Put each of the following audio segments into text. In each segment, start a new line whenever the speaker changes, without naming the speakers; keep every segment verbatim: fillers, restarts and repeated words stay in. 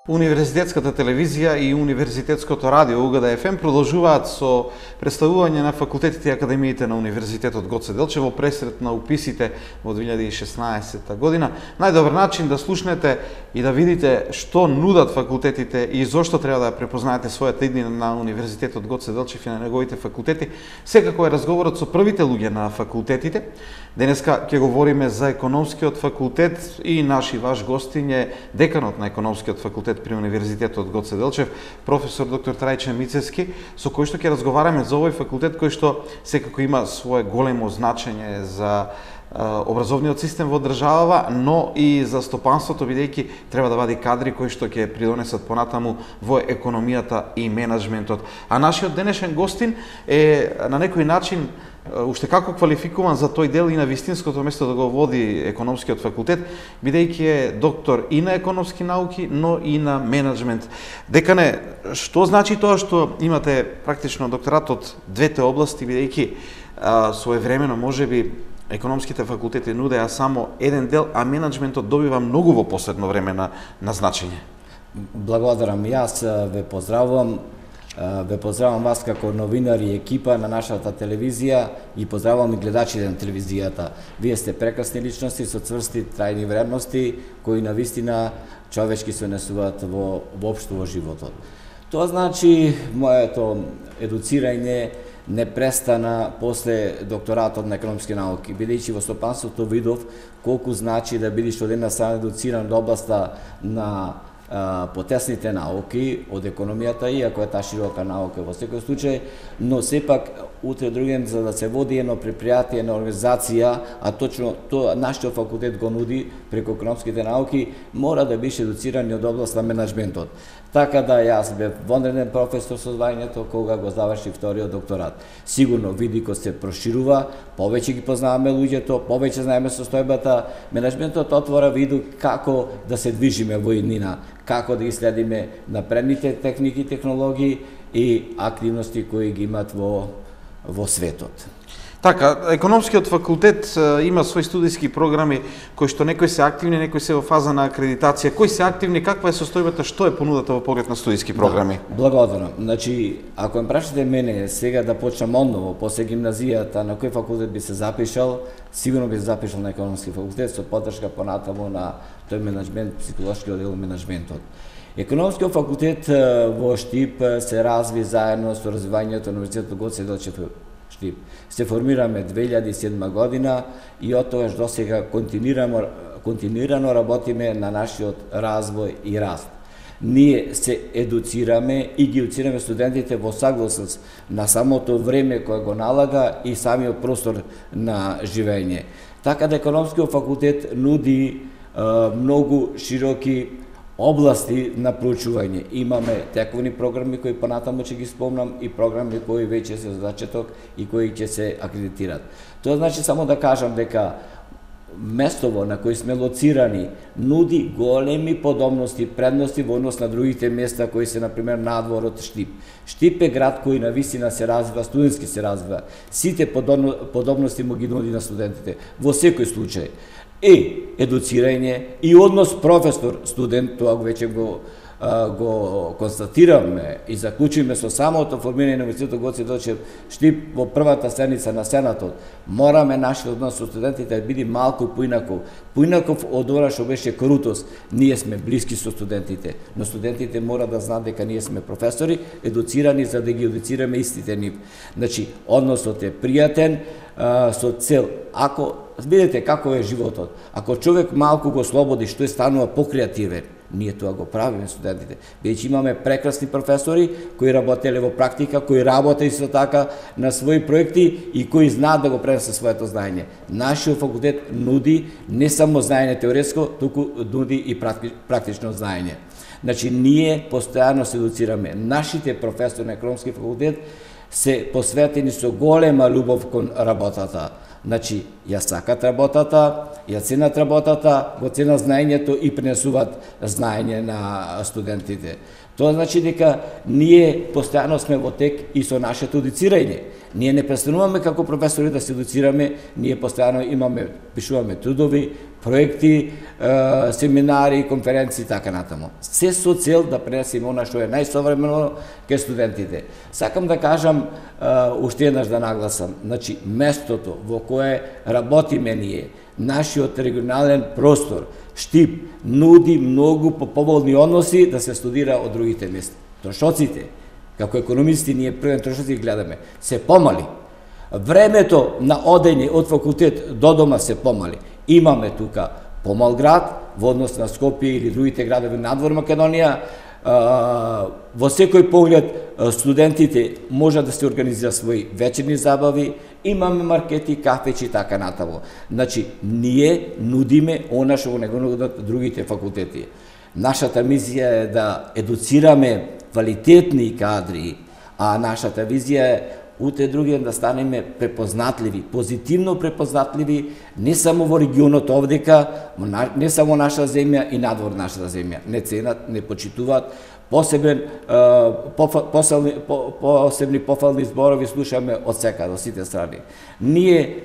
Универзитетската телевизија и Универзитетското радио У Г Д Ф М продолжуваат со представување на факултетите и академиите на Универзитетот Гоце Делчев во пресрет на уписите во две илјади и шеснаесетта година. Најдобар начин да слушнете и да видите што нудат факултетите и зошто треба да препознаете својата иднина на Универзитетот Гоце Делчев и на неговите факултети, секако е разговорот со првите луѓе на факултетите. Денеска ќе говориме за економскиот факултет и наш и ваш гостин е деканот на економскиот факултет при Универзитетот Гоце Делчев, професор доктор Трајче Мицевски, со кој што ќе разговараме за овој факултет кој што секако има свое големо значење за образовниот систем во државава, но и за стопанството, бидејќи треба да вади кадри кои што ќе придонесат понатаму во економијата и менаџментот. А нашиот денешен гостин е на некој начин уште како квалификуван за тој дел и на вистинското место да го води економскиот факултет, бидејќи е доктор и на економски науки, но и на менаџмент. Декане, што значи тоа што имате практично докторат од двете области, бидејќи своевремено можеби економските факултети нудеа само еден дел, а менаџментот добива многу во последно време на, на значење?
Благодарам. Јас ве поздравувам. Ве поздравам вас како новинар и екипа на нашата телевизија и поздравувам и гледачите на телевизијата. Вие сте прекрасни личности со цврсти трајни вредности кои навистина човечки се несуваат во воопшто во животот. Тоа значи моето едуцирање не престана после докторатот на економски науки, бидејќи во стопанството видов колку значи да бидеш од една страна едуциран од областа на потесните науки од економијата, иако е таа широка наука во секој случај, но сепак утре другем за да се води едно предпријатие, една организација, а точно тоа нашиот факултет го нуди преку економските науки, мора да бише едуциран од област на менаџментот. Така да јас бев вонреден професор со звањето кога го заврши вториот докторат. Сигурно видико се проширува, повеќе ги познаваме луѓето, повеќе знаеме состојбата, менаџментот отвора виду како да се движиме во иднина, како да ги следиме напредните техники и технологии и активности кои ги имат во, во светот.
Така, економскиот факултет има своји студиски програми кои што некои се активни, некои се во фаза на акредитација. Кои се активни, каква е состојбата, што е понудата во поглед на студиски програми?
Да, благодарам. Значи, ако ме прашате мене сега да почнам одново после гимназијата на кој факултет би се запишал, сигурно би се запишал на економски факултет со поддршка понатаму на тој менаџмент, психолошкиот дел менаџментот. Економскиот факултет во Штип се разви заедно со развивањето на Универзитетот Гоце Делчев Штип. Се формираме две илјади и седма година и од тогаш до сега континуирано, континуирано работиме на нашиот развој и раст. Ние се едуцираме и ги едуцираме студентите во согласност на самото време кое го налага и самиот простор на живење. Така да економскиот факултет нуди е, многу широки области на проучување. Имаме тековни програми кои понатаму ќе ги спомнам и програми кои веќе се за зачеток и кои ќе се акредитират. Тоа значи само да кажам дека местово на кои сме лоцирани нуди големи подобности, предности во однос на другите места кои се например надвор од Штип. Штип е град кој на вистина се развива, студентски се развива. Сите подобности му ги нуди на студентите во секој случај. И едуцирање и однос професор-студент, тоа веќе го, го констатираме и заклучиме со самото формирање на Универзитетот Гоце Делчев Штип во првата седница на Сенатот. Мораме нашиот однос со студентите да биде малку поинаков. Поинаков од ова што беше крутост. Ние сме блиски со студентите, но студентите мора да знаат дека ние сме професори, едуцирани за да ги едуцираме истите нив. Значи, односот е пријатен, со цел, ако видите како е животот, ако човек малку го слободи, што е станува покреативен, ние тоа го правиме студентите. Бидејќи имаме прекрасни професори кои работеле во практика, кои работат исто така на своји проекти и кои знаат да го пренесат своето знаење. Нашиот факултет нуди не само знаење теоретско, туку нуди и практично знаење. Значи, ние постојано се едуцираме. Нашите професори на економски факултет се посветени со голема љубов кон работата. Значи, ја сакат работата, ја ценат работата, го ценат знаењето и пренесуваат знаење на студентите. Тоа значи дека ние постојано сме во тек и со нашето едуцирање. Ние не престануваме како професори да се едуцираме, ние постојано имаме, пишуваме трудови, проекти, е, семинари, конференции и така натаму. Се со цел да пренесеме она што е најсовремено кај студентите. Сакам да кажам, е, уште еднаш да нагласам, значи местото во кое работиме ние, нашиот регионален простор, Штип, нуди многу поповолни односи да се студира од другите места. Трошоците, како економисти, ние првен трошоци гледаме, се помали. Времето на одење од факултет до дома се помали. Имаме тука помал град, во однос на Скопје или другите градови надвор Македонија. Во секој поглед студентите може да се организира своји вечерни забави, имаме маркети, кафеќи и така натаму. Значи, ние нудиме она што го не го нудат другите факултети. Нашата мисија е да едуцираме квалитетни кадри, а нашата визија е утре другиот да станеме препознатливи, позитивно препознатливи, не само во регионот овдека, не само наша земја и надвор нашата земја. Не ценат, не почитуваат, посебен, посебни, посебни пофални зборови слушаме од секаде, од сите страни. Ние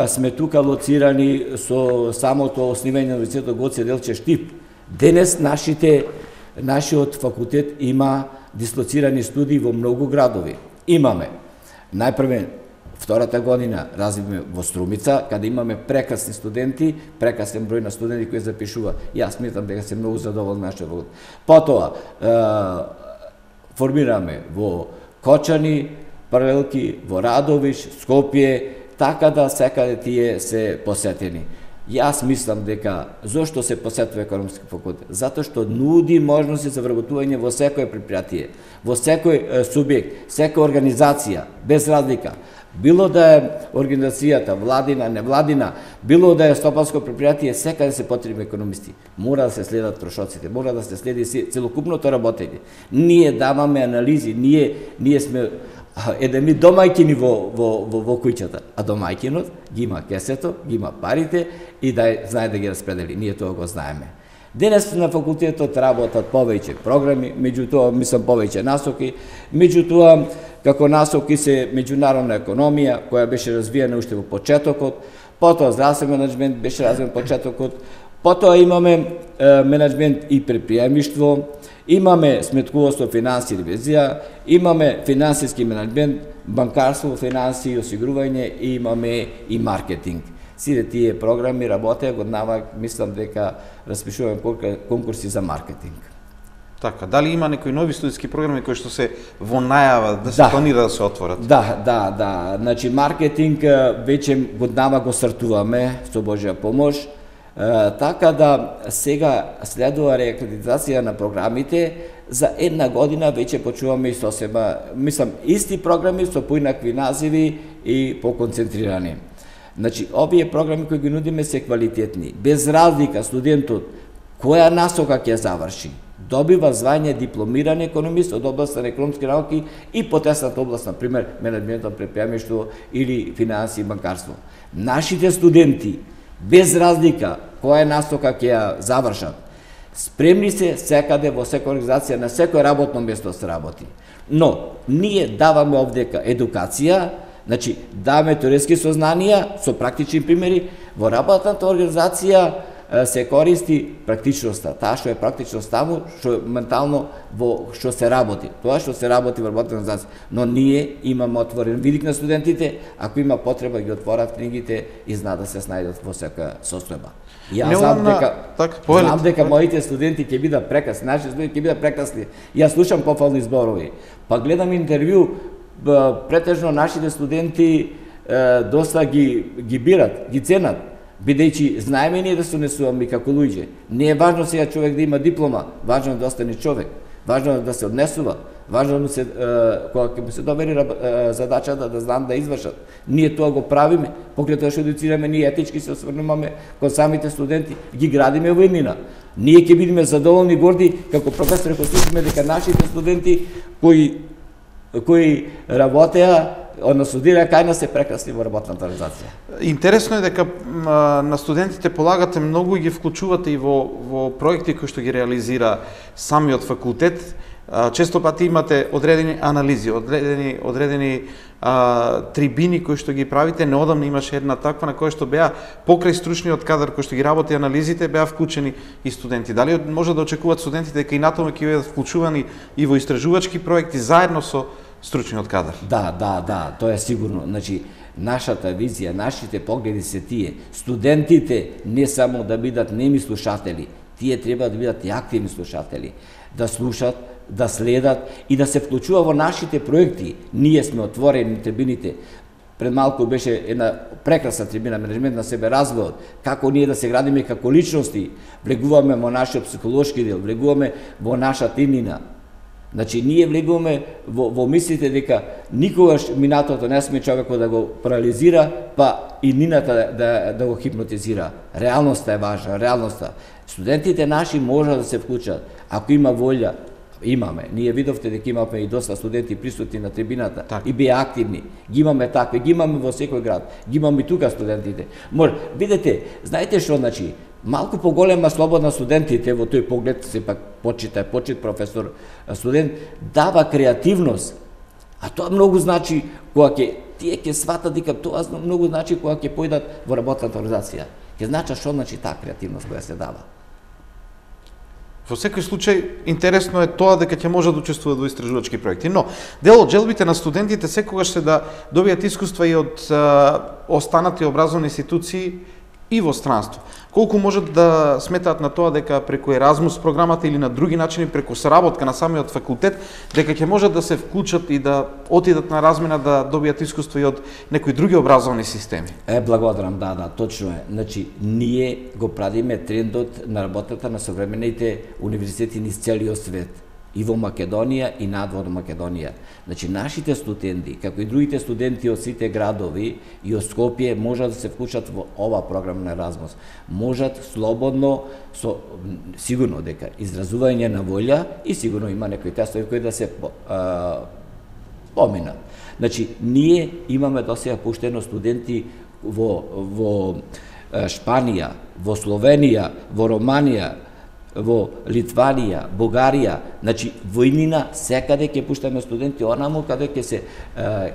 сме тука лоцирани со самото основање на Универзитетот Гоце Делчев Штип. Денес нашите, нашиот факултет има дислоцирани студии во многу градови. Имаме, најпрвен, втората година развивме во Струмица, каде имаме прекрасни студенти, прекрасен број на студенти кои запишува. Јас сметам дека се многу задоволен нашиот факултет. Потоа, е, формираме во Кочани, паралелки, во Радовиш, Скопје, така да секаде тие се посетени. Јас мислам дека зошто се посетува економски факултет? Затоа што нуди можности за вработување во секој предпријатие, во секој субјект, секоја организација, без разлика. Било да е организацијата владина, невладина, било да е стопанско предпријатие, секаде се потребни економисти. Мора да се следат трошоците, мора да се следи целокупното работење. Ние даваме анализи, ние ние сме едеми домајкини во, во, во, во куќата, а домајкинот ги има кесето, ги има парите и да знае да ги распредели. Ние тоа го знаеме. Денес на факултетот работат повеќе програми, меѓутоа мислам повеќе насоки, меѓутоа како насоки се меѓународна економија која беше развиена уште во почетокот, потоа здравствен менеджмент беше развиен во почетокот, потоа имаме е, менеджмент и предприемништво, имаме сметкувоство, финанси и ревизија, имаме финансиски менеджмент, банкарство, финанси и осигурување и имаме и маркетинг. Сите тие програми работеа годинава, мислам дека распишуваме конкурси за маркетинг.
Така, дали има некои нови студиски програми кои што се во најава да се да. планира да се отворат? Да, да, да. Значи маркетинг веќе годинава го стартуваме со Божја помош. Uh, така да сега следува реакредитација на програмите, за една година веќе почуваме и сосема, мислам, исти програми со поинакви називи и поконцентрирани. Значи, овие програми кои ги нудиме се квалитетни, без разлика студентот која насока ќе заврши, добива звање дипломиран економист од областа на економски науки и потесната област, на пример, менеджментот, предприемништво или финанси и банкарство. Нашите студенти, без разлика која насока ќе ја завршат, спремни се секаде во секоја организација, на секој работно место се работи. Но, ние даваме овдека едукација, значи даваме теоретски сознанија со практични примери, во работната организација се користи практичноста, таа што е практичност таму, што ментално во што се работи, тоа што се работи во работната организација. Но ние имаме отворен видик на студентите, ако има потреба ги отворат книгите и знаат да се снајдат во секоја состојба. Јас знам дека так, знам дека моите студенти ќе бидат прекрасни, нашите студенти ќе бидат прекрасни. Јас слушам пофални зборови, па гледам интервју, претежно нашите студенти доста ги ги бират, ги ценат, бидејќи знаеме ние да се однесуваме како луѓе. Не е важно сега човек да има диплома, важно е да остане човек, важно е да се однесува, важно е да се кога ќе му се довери задачата да знам да извршат. Ние тоа го правиме, покрај тоа што едуцираме, ние етички се осврнуваме кон самите студенти, ги градиме во иднина. Ние ќе бидеме задоволни, горди како професори кои слушаме дека нашите студенти кои кои работеа
односно студира кај нас се прекрасни во работната организација.
Интересно е дека на студентите полагате многу и ги вклучувате и во во проекти кои што ги реализира самиот факултет. Често пати имате одредени анализи, одредени одредени а, трибини кои што ги правите. Неодамна имаше една таква на која што беа покрај стручниот кадар кој што ги работи анализите, беа вклучени и студенти. Дали може да очекуваат студентите дека и натаму ќе бидат вклучувани и во истражувачки проекти заедно со стручниот кадар?
Да, да, да, тоа е сигурно. Значи, нашата визија, нашите погледи се тие. Студентите не само да бидат неми слушатели, тие треба да бидат и активни слушатели, да слушат, да следат и да се вклучува во нашите проекти. Ние сме отворени на трибините. Пред малку беше една прекрасна трибина, менеджмент на себе развојот, како ние да се градиме како личности, влегуваме во нашиот психолошки дел, влегуваме во нашата имнина. Значи, ние влегуваме во, во мислите дека никогаш минатото не сме човекот да го парализира, па и нината да, да, да го хипнотизира. Реалноста е важна, реалноста. Студентите наши можат да се вклучат, ако има волја. Имаме. Ние видовте дека имаме и доста студенти присутни на трибината так. И беа активни. Ги имаме такви, ги имаме во секој град. Ги имаме и тука студентите. Може, видете, знаете што значи? Малку поголема слобода студентите во тој поглед, сепак почита, почит професор, студент, дава креативност. А тоа многу значи кога ќе тие ќе сватат дека тоа многу значи кога ќе појдат во работната организација. Ќе значи што значи таа креативност која се дава.
Во секој случај, интересно е тоа дека ќе може да учествуваат во истражувачки проекти. Но, дел од желбите на студентите секогаш се да добијат искуства и од а, останати образовни институции и во странство. Колку можат да сметаат на тоа дека преку Еразмус програмата или на други начини, преку соработка на самиот факултет, дека ќе можат да се вклучат и да отидат на размена да добијат искуство и од некои други образовни системи?
Е, благодарам, да, да, точно е. Значи, ние го правиме трендот на работата на современите универзитети низ целиот свет. И во Македонија и надвор Македонија. Значи, нашите студенти, како и другите студенти од сите градови и од Скопје, можат да се вклучат во ова програма на Еразмус. Можат слободно, со, сигурно дека изразување на волја и сигурно има некои тестови кои да се а, поминат. Значи, ние имаме досега пуштено студенти во, во Шпанија, во Словенија, во Романија, во Литванија, Бугарија, значи војнина секаде ќе пуштаме студенти онаму каде ќе се е,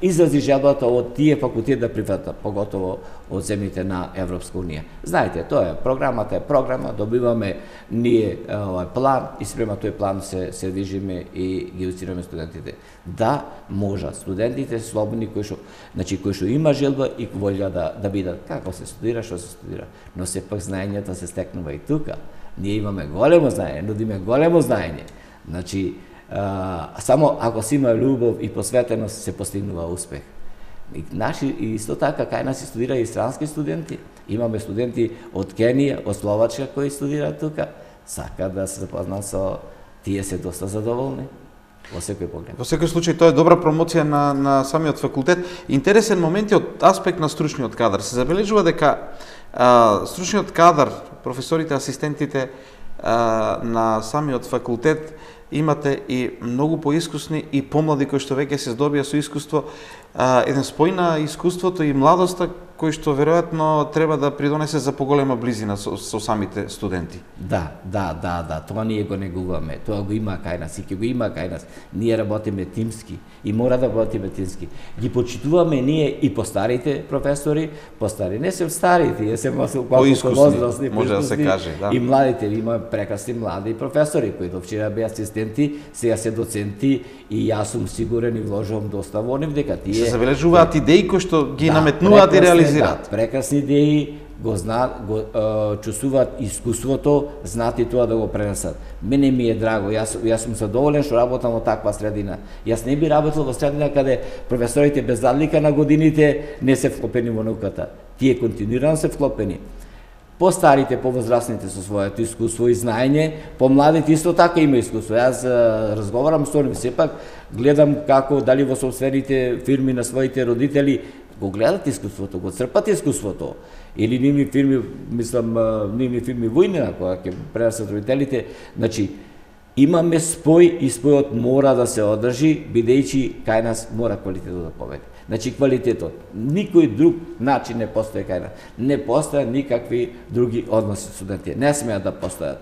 изрази желбата од тие факултети да прифатат, поготово од земјите на Европска унија. Знаете, тоа е програмата е програма, добиваме ние овој план и спрема тој план се се движиме и ги educираме студентите. Да, можат студентите слободни кои што, значи кои што има желба и волја да да бидат како се студира, што се студира, но сепак знаењата се стекнува и тука. Ние имаме големо знаење, нудиме големо знаење. Значи, а, само ако си има љубов и посветеност се постигнува успех. И наши и исто така кај нас студира и странски студенти. Имаме студенти од Кенија, од Словачка кои студираат тука. Сака да се запознат со тие се доста задоволни. Во секој поглед.
Во секој случај тоа е добра промоција на на самиот факултет. Интересен момент е од аспект на стручниот кадар. Се забележува дека а, стручниот кадар, професорите, асистентите а, на самиот факултет имате и многу поискусни и помлади кои што веќе се здобија со искуство, а, еден спој на искуството и младоста кој што веројатно треба да придонесе за поголема близина со, со самите студенти.
Да, да, да, да, тоа ние го негуваме, тоа го има кај нас и ќе го има кај нас. Ние работиме тимски и мора да работиме тимски. Ги почитуваме ние и постарите професори, постари, не се стари, тие се
поискусни, може да се каже, да.
И младите, има прекрасни млади професори кои до вчера беа асистенти, сега се доценти и јас сум сигурен и вложувам доста во нив дека тие
се забележуваат идеи кои што ги да, наметнуваат и реализираат.
Да, прекрасни идеи, го знаат, го е, чувствуваат искуството, знаат и тоа да го пренесат. Мене ми е драго, јас јас сум задоволен што работам во таква средина. Јас не би работел во средина каде професорите без разлика на годините не се вклопени во науката. Тие континуирано се вклопени. По-старите, по-возрастните со своето искуство и знаење, по-младите исто така има искуство. Јас разговарам со нив, сепак гледам како дали во собствените фирми на своите родители го гледат искуството, го црпат искуството. Или нивни фирми, мислам, нивни фирми војнина, која ќе пренесат родителите, значи, имаме спој и спојот мора да се одржи, бидејќи кај нас мора квалитетот да победи. Значи квалитетот, никој друг начин не постои кај нас. Не постојат никакви други односи со студенти. Не смеат да постојат.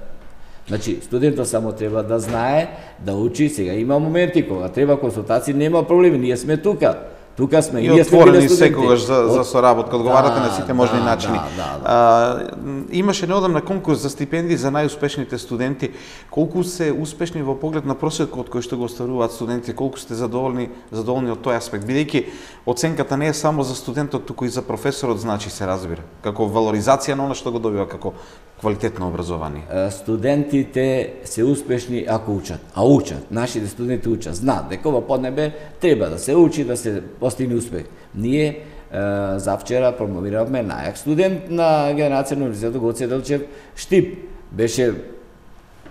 Значи, студентот само треба да знае, да учи. Сега има моменти кога треба консултации, нема проблеми, ние сме тука. Тука сме,
и отворени секогаш за, за соработка, одговарате да, на сите можни
да,
начини.
Да, да, да.
А, имаше неодамна конкурс за стипендии за најуспешните студенти. Колку се успешни во поглед на просекот кој што го остваруваат студентите, колку сте задоволни, задоволни од тој аспект? Бидејќи оценката не е само за студентот, туку и за професорот, значи се разбира, како валоризација на она што го добива како квалитетно образование.
Студентите се успешни ако учат, а учат. Нашите студенти учат, знаат дека во поднебе треба да се учи, да се постигне успех. Ние завчера промовиравме најак студент на генерација на Универзитетот Гоце Делчев, Штип. Беше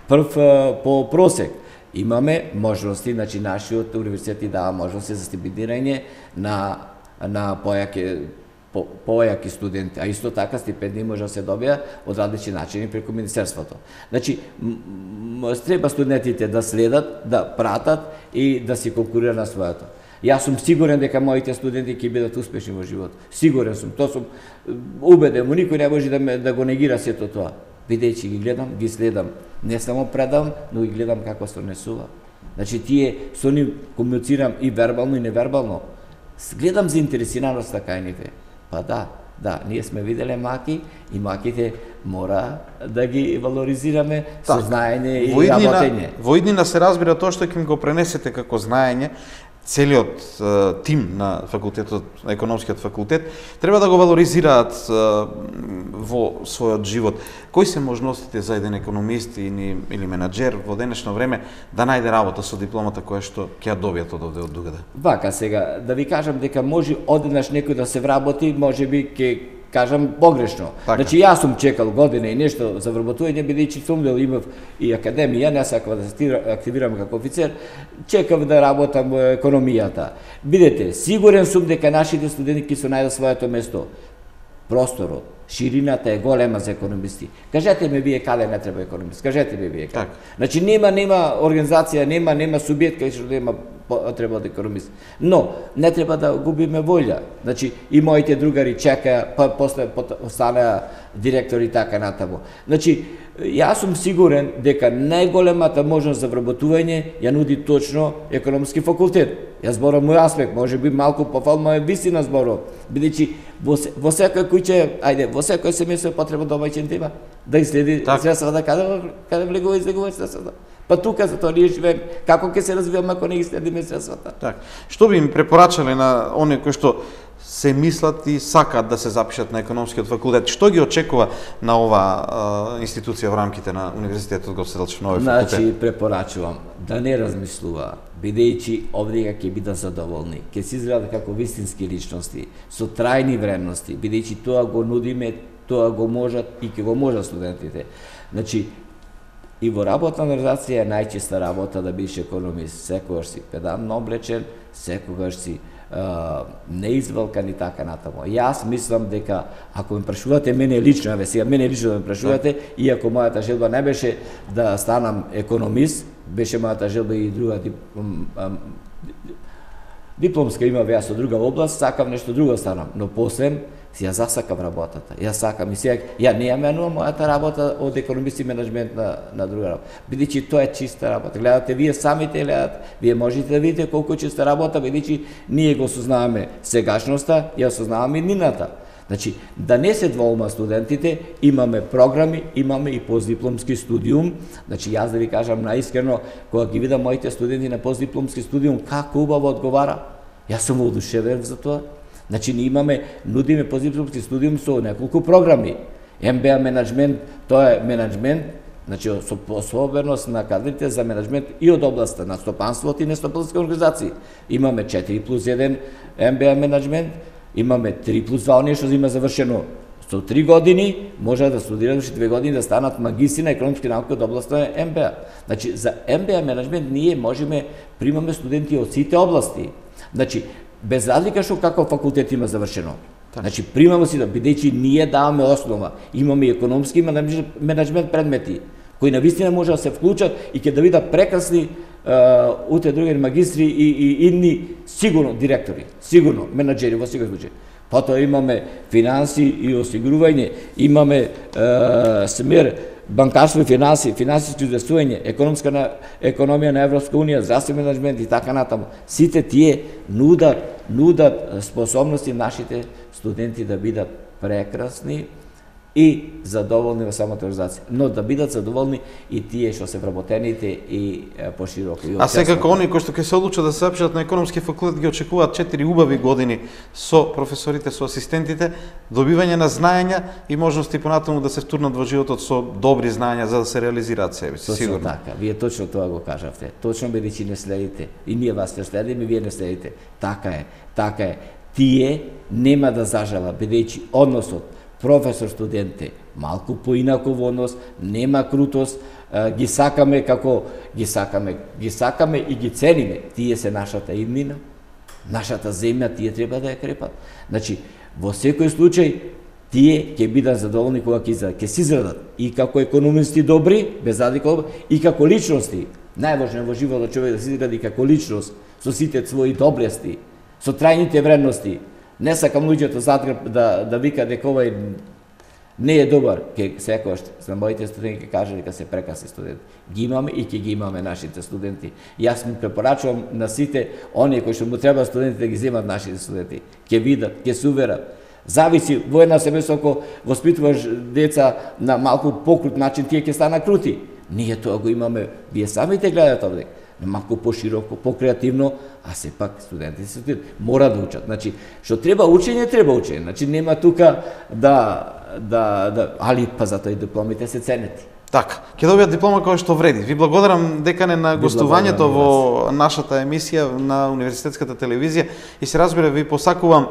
прв по просек. Имаме можности, значи нашиот универзитет дава можности за стипендирање на на појаки по, појаки студенти, а исто така стипендии може да се добија од различни начини преку министерството. Значи треба студентите да следат, да пратат и да се конкурираат на своето. Јас сум сигурен дека моите студенти ќе бидат успешни во живот. Сигурен сум, тоа сум убеден, во никој не може да ме да го негира сето тоа. Бидејќи ги гледам, ги следам, не само предавам, но и гледам како се однесува. Значи тие со нив комуницирам и вербално и невербално. Гледам заинтересираноста кај ниве. Па да, да, ние сме виделе маки и маките мора да ги валоризираме со знаење и работење.
Во иднина се разбира тоа што ќе го пренесете како знаење. Целиот uh, тим на факултетот, на економскиот факултет, треба да го валоризираат uh, во својот живот. Кои се можностите за еден економист или, или менаџер во денешно време да најде работа со дипломата која што ќе ја добијат од овде од дугаде?
Вака сега, да ви кажам дека може одеднаш некој да се вработи, може би ќе кажам погрешно. Така. Значи јас сум чекал година и нешто за вработување, бидејќи сум дел имав и академија, не сакав да се активирам како офицер, чекав да работам во економијата. Бидете, сигурен сум дека нашите студенти ќе се најдат своето место. Просторот, ширината е голема за економисти. Кажете ми вие каде не треба економист. Кажете ми вие каде. Так. Значи нема нема организација, нема нема субјект кај што нема треба да економист. Но не треба да губиме волја. Значи и моите другари чекаја, па после останаа директори така натаму. Значи јас сум сигурен дека најголемата можност за вработување ја нуди точно економски факултет. Јас зборам мој аспект, може би малку пофално е вистина зборов, бидејќи во, во секој куќе, ајде, во секој семејство потреба домаќин да има, да изследи средствата каде каде влегува и излегува средствата. Па тука за тоа ние живееме, како ќе се развиваме ако не ги следиме средствата?
Так. Што би им препорачале на оние кои што се мислат и сакаат да се запишат на економскиот факултет? Што ги очекува на ова а, институција во рамките на Универзитетот Гоце Делчев на овој факултет?
Значи, препорачувам да не размислува, бидејќи овде ќе бидат задоволни, ќе се изградат како вистински личности, со трајни вредности, бидејќи тоа го нудиме, тоа го можат и ќе го можат студентите. Значи, и во работна организација е најчиста работа да бидеш економист, секогаш си педантно облечен, секогаш си Uh, неизвалкан и така натаму. Јас мислам дека ако ме прашувате мене лично, еве сега мене лично да ме прашувате, иако мојата желба не беше да станам економист, беше мојата желба и друга диплом, дипломска имав јас од друга област, сакам нешто друго станам, но после ја засакам работата. Ја сакам и сега ја не ја менувам мојата работа од економист и менеджмент на на друга работа. Бидејќи тоа е чиста работа. Гледате вие самите гледате, вие можете да видите колку е чиста работа, бидејќи ние го сознаваме сегашноста, ја сознаваме иднината. Значи, да не се двоума студентите, имаме програми, имаме и постдипломски студиум. Значи, јас да ви кажам наискрено, кога ги видам моите студенти на постдипломски студиум, како убаво одговара, јас сум воодушевен за тоа. Значи, ние имаме, нудиме постдипломски студиум со неколку програми. Ем би А менеджмент, тоа е менеджмент, значи, со особеност на кадрите за менеджмент и од областа на стопанството и нестопански организации. Имаме четири плюс еден Ем Би А менеджмент, имаме три плюс два, оние што има завршено со три години, може да студираат уште две години да станат магистри на економски науки од областа на Ем Би А. Значи, за Ем Би А менеджмент ние можеме примаме студенти од сите области. Значи, без разлика што каков факултет има завршено. Значи, примамо си да, бидејќи ние даваме основа, имаме економски и менеджмент предмети. кои навистина може да се вклучат и ќе да видат прекрасни утре други магистри и, и идни сигурно директори, сигурно менаџери во секој случај. Потоа имаме финанси и осигурување, имаме е, смер банкарство и финанси, финансиски известување, економска на, економија на Европска унија, здравствен менаџмент и така натаму. Сите тие нудат, нудат способности нашите студенти да бидат прекрасни и задоволни во самата организација, но да бидат задоволни и тие што се вработените и пошироко.
А секако оние кои што ќе се одлучат да се запишат на економски факултет ги очекуваат четири убави години со професорите, со асистентите, добивање на знаења и можности понатаму да се втурнат во животот со добри знаења за да се реализираат себе си, сигурно.
Точно така, вие точно тоа го кажавте. Точно бидејќи не следите и ние вас не следиме, вие не следите. Така е, така е. Тие нема да зажала бидејќи односот професор-студенте, малку поинаков однос, нема крутост, ги сакаме како ги сакаме, ги сакаме и ги цениме. Тие се нашата иднина, нашата земја, тие треба да ја крепат. Значи, во секој случај, тие ќе бидат задоволни кога ќе изградат, ќе се изградат и како економисти добри, без разлика, и како личности. Најважно во животот човек да се изгради како личност, со сите своји доблести, со трајните вредности. Не сакам луѓето задгрб да, да вика дека овој не е добар, ке секојаш за моите студенти ќе каже дека се прекрасни студенти. Ги имаме и ќе ги имаме нашите студенти. Јас му препорачувам на сите оние кои што му треба студентите да ги земат нашите студенти. Ќе видат, ќе се уверат. Зависи во една семејство ако воспитуваш деца на малку покрут начин, тие ќе станат крути. Ние тоа го имаме, вие самите гледате овде. Малку пошироко, покреативно, а сепак студентите се студенти мора да учат. Значи, што треба учење, треба учење. Значи нема тука да да да али па затоа и дипломите се ценети.
Така, ќе добијат диплома која што вреди. Ви благодарам декане на гостувањето во нашата емисија на Универзитетската телевизија и се разбира ви посакувам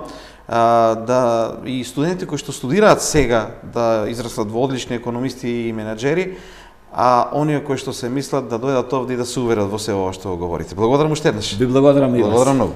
а, да и студентите кои што студираат сега да израслат во одлични економисти и менаџери, а оние кои што се мислат да дојдат овде и да се уверат во се ова што го говорите. Благодарам уште еднаш.
Ви благодарам и вас.
Благодарам многу.